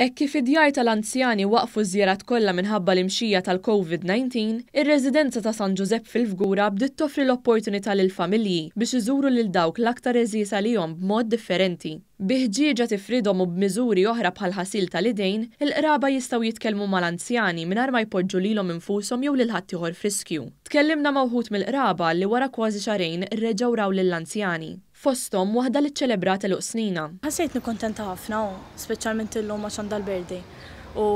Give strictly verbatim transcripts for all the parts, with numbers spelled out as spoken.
Hekk kif id-djar tal-anzjani waqfu ż-żjarat kollha minħabba l-imxija tal-Covid nineteen, ir-residenza ta' San Ġużepp fil-Fgura bdiet toffri l-opportunità lill-familji biex iżuru lil dawk l-aktar għeżież għalihom b'mod differenti. Bi ħġieġa tifridhom u b'miżuri oħra bħal ħasil tal-idejn, il-qraba jistgħu jitkellmu mal-anzjani mingħajr ma jpoġġu lilhom infushom jew lil ħaddieħor f'riskju. Tkellimna ma' wħud mill-qraba li wara kważi xahrejn reġgħu raw lill-anzjani. Fosthom waħda li ċċelebrat għeluq snina. Ħassejtni kontenta ħafna, u speċjalment illum għax għandha l-birthday u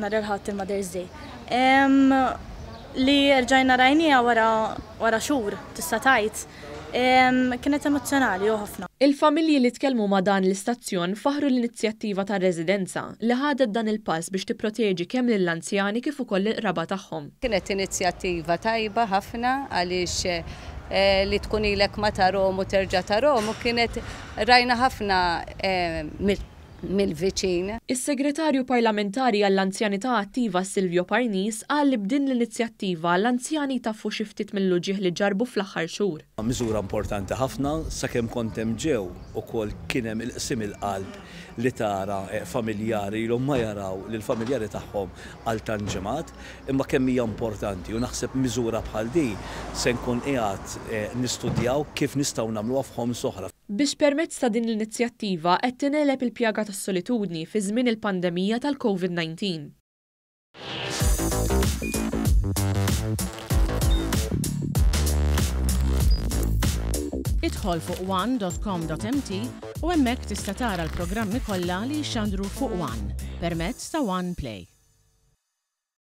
nhar il-Ħadd il-Mother's Day. Em, li rġajna rajnieha wara, wara xhur, tista' tgħid, em, kienet emozzjonali u ħafna. Il-familji li tkellmu ma' dan l-istazzjon faħru l-inizjattiva tar-residenza li ħadet dan il-pass biex tipproteġi kemm lill-anzjani kif ukoll il-qraba tagħhom. Kienet inizjattiva tajba ħafna għaliex, eh, li tkun ilek ma tarahom u terġa' tarahom u kienet rajna ħafna, eh, mill-, mill-viċin. Is-segretarju parlamentari għall-anzjanità attiva Silvio Parnis qal li b'din l-inizjattiva l-anzjani taffu xi ftit mill-uġigħ li ġarbu fl-aħħar xhur. Miżura importanti ħafna sakemm kont hemm ġew ukoll kien hemm il-qsim il-qalb li tara, eh, familjari ilhom ma jaraw lill-familjari tagħhom għal tant ġimgħat, imma kemm hija importanti u naħseb miżura bħal di se nkun qiegħed, eh, nistudjaw kif nistgħu nagħmluha f'ħoms oħra. Biex permezz ta' din l-inizjattiva qed tingħeleb il-pjaga tas-solitudni fi żmien il-pandemija tal-Covid nineteen. Idħol fuq one dot com dot M T u hemmhekk tista' tara l-programmi kollha li jxandru fuq One permezz ta' One Play.